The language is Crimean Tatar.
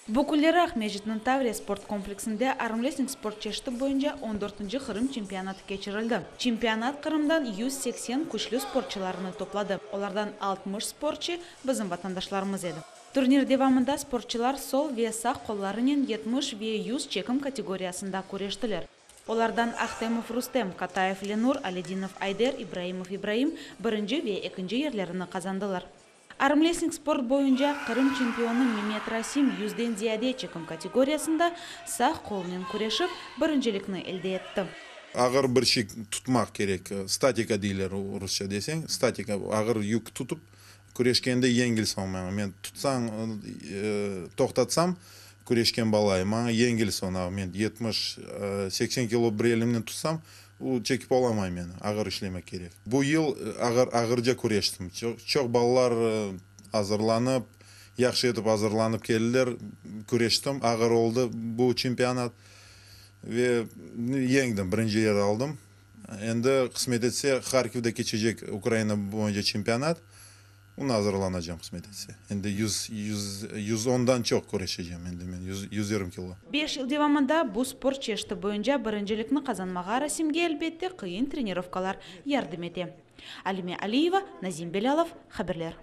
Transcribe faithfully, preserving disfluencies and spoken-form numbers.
Bu künleri Aqmescitniñ Tavriya sport kompleksinde armrestling sport çeşiti boyunca on dörtünci Qırım çempionatı keçirildi. Çempionat Qırımdan yüz seksen küçlü sportçılarını topladı. Olardan altmış sportçı bizim vatandaşlarımız edi. Turnir devamında sportçılar sol ve sağ qollarınen yetmiş ve yüz çekim kategoriyasında küreştiler. Olardan Ahtemov Rustem, Katayev Lenur, Aledinov Ayder, İbraimov İbraim birinci ve ekinci yerlerini qazandılar. Armrestling sport boyunca Qırım çempionı Memet Rasim yüzden ziyade çekim kategoriyasında sağ qolnen küreşip, birincilikni elde etti. Ağır bir şey tutmaq kerek, statika deyler rusça deseñ, statika, ağır yük tutıp küreşkende yengil soñ maña. Men tutsañ, toqtatsam, küreşken balayım, maña yengil soñ. Men yetmiş, seksen kilo bir elimnen tutsam, o çekip olamay meni, ağır işlemek kerek. Bu yıl ağır, ağırca küreştim. Çoq, çoq balalar azırlanıp, yahşı etip azırlanıp keldiler, küreştim, ağır oldı bu çempionat. Ve yeñdim, birinci yer aldım. Endi qısmet etse Harkivde keçecek Ukraina boyunca çempionat, ona azırlanacağım qısmet etse. Endi yüz, yüz, yüz ondan çoq küreşeceğim endi men, yüz, yüz yigirmi kilo. Beş yıl devamında bu sport çeşiti boyunca birincilikni qazanmağa Rasimge elbette qıyın trenirovkalar yardım ete. Alime Aliyeva, Nazim Belâlov, haberler.